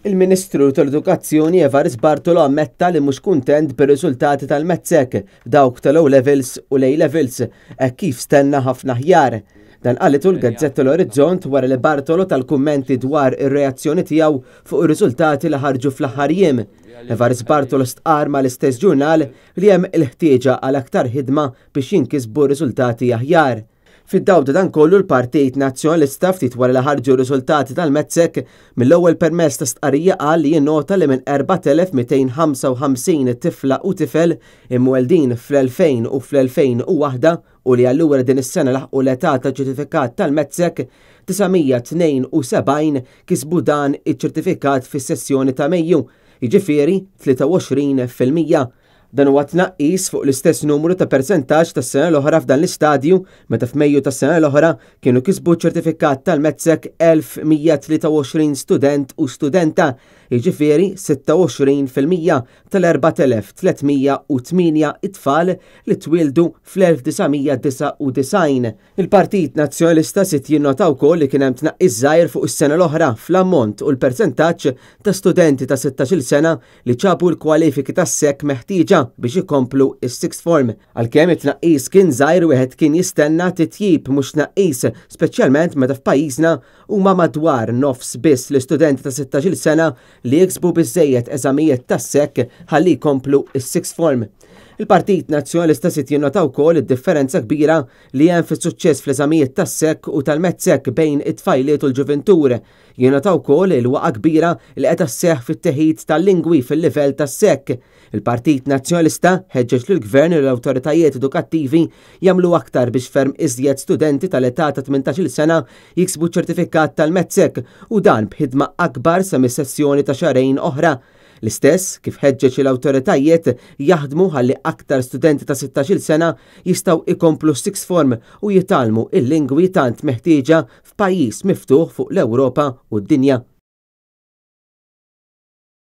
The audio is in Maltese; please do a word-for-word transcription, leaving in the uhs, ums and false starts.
Il-Ministru tal-Edukazzjoni Evarist Bartolo ammetta li mhux kuntent bir-riżultati tal-MATSEC, dawk tal-O Levels u l-A Levels, hekk kif stenna ħafna aħjar. Dan qalitu l-Gazzetta l-Orizzont wara li Bartolo ta l-kummenti dwar ir-reazzjoni tiegħu fuq ir-riżultati li ħarġu fl-aħħar jiem. Evarist Bartolo stqar mal-istess ġurnal li hemm il-ħtieġa għal aktar ħidma biex jinkisbu riżultati aħjar. Fid-dawl ta' dan kollu, l-Partit Nazzjonalista, ftit wara li ħarġu riżultati tal-MATSEC, mill-ewwel permezz ta' stqarrija qal li jinnota li minn erbat elef mitejn ħamsa u ħamsin tifla u tifel imweldin fl-elfejn u fl-elfejn u waħda u li allura din is-sena laħqu l-età ta' ċertifikat tal-MATSEC, disa' mija tnejn u sebgħin kisbu dan iċ-ċertifikat fis-sessjoni ta' Mejju, jiġifieri tlieta u għoxrin fil-mija. Dan huwa tnaqqis fuq l-istess numru ta' persentaġġ tas-sena l-oħra f'dan l-istadju, meta f'Mejju tas-sena l-oħra kienu kisbu ċertifikat tal-MATSEC elf mija tlieta u għoxrin student u studenta, jiġifieri sitta u għoxrin fil-mija tal-erbat elef tliet mija u tmienja it-tfal li twildu fl-elf disa' mija disgħa u disgħin. Il-Partit Nazzjonalista sit jinnota wkoll li kien hemm tnaqqis żgħir fuq is-sena l-oħra fl-ammont u l-persentaġġ ta' studenti ta' sittax-il sena li ġabu l-kwalifiki tas-SEC meħtieġa biex ikomplu is-sixth form. Għalkemm it-tnaqqis kien żgħir, wieħed kien jistenna titjib mhux tnaqqis, speċjalment meta f'pajjiżna huma madwar nofs biss l-istudenti ta' sittax-il sena li jiksbu biżejjed eżamijiet tas-SEC ħalli jkomplu is-sixth form. Il-Partit Nazzjonalista sit jinnota wkoll id-differenza kbira li hemm fis-suċċess fl-eżamijiet tas-SEC u tal-MATSEC bejn it-tfajliet u l-ġuventur. Jinnota wkoll il-waqa kbira li qed isseħħ fit-teħid tal-lingwi fil-livell tas-SEC. Il-Partit Nazzjonalista ħeġġeġ lill-Gvern u l-awtoritajiet edukattivi jagħmlu aktar biex ferm iżjed studenti tal-età ta' tmintax-il sena jiksbu ċertifikat tal-MATSEC, u dan b'ħidma akbar sa mis-sessjoni ta' xahrejn oħra. L-istess kif ħeġġeġ l-awtoritajiet jaħdmu ħalli aktar studenti ta' sittax-il sena jistgħu ikomplu sixth form u jitgħallmu il-lingwi tant meħtieġa f'pajjiż miftuħ fuq l-Ewropa u d-dinja.